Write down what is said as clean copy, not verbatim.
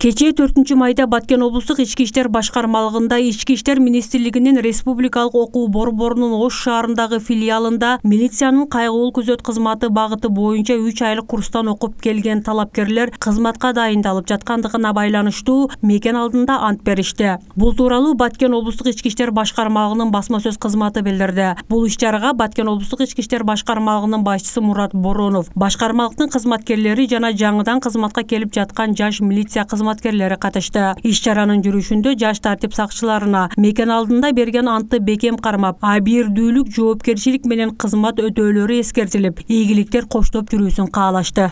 Кечээ 4-майда Баткен облустук ички иштер башкармалыгында Ички иштер министрлигинин республикалык окуу борборунун Ош шаарындагы филиалында милициянын кайгылуу күзөт кызматы багыты боюнча 3 айлык курстан окуп келген талапкерлер кызматка дайындалып жаткандыгына байланыштуу мекен алдында ант беришти. Бул тууралуу Баткен облустук ички иштер башкармалыгынын басма сөз кызматы билдирди. Бул иш-чарага Баткен облустук ички иштер башкармалыгынын башчысы Мурат Боронов, башкармалыктын кызматкерлери жана жаңыдан кызматка келип жаткан жаш милиция кызматкерлери катышты. Иш-чаранын жүрүшүндө жаш тартип сакчыларына мекен алдында берген антты бекем кармап, абийирдүүлүк, жоопкерчилик менен кызмат өтөөлөрү эскертилип, ийгиликтер коштоп жүрүүсүн каалашты.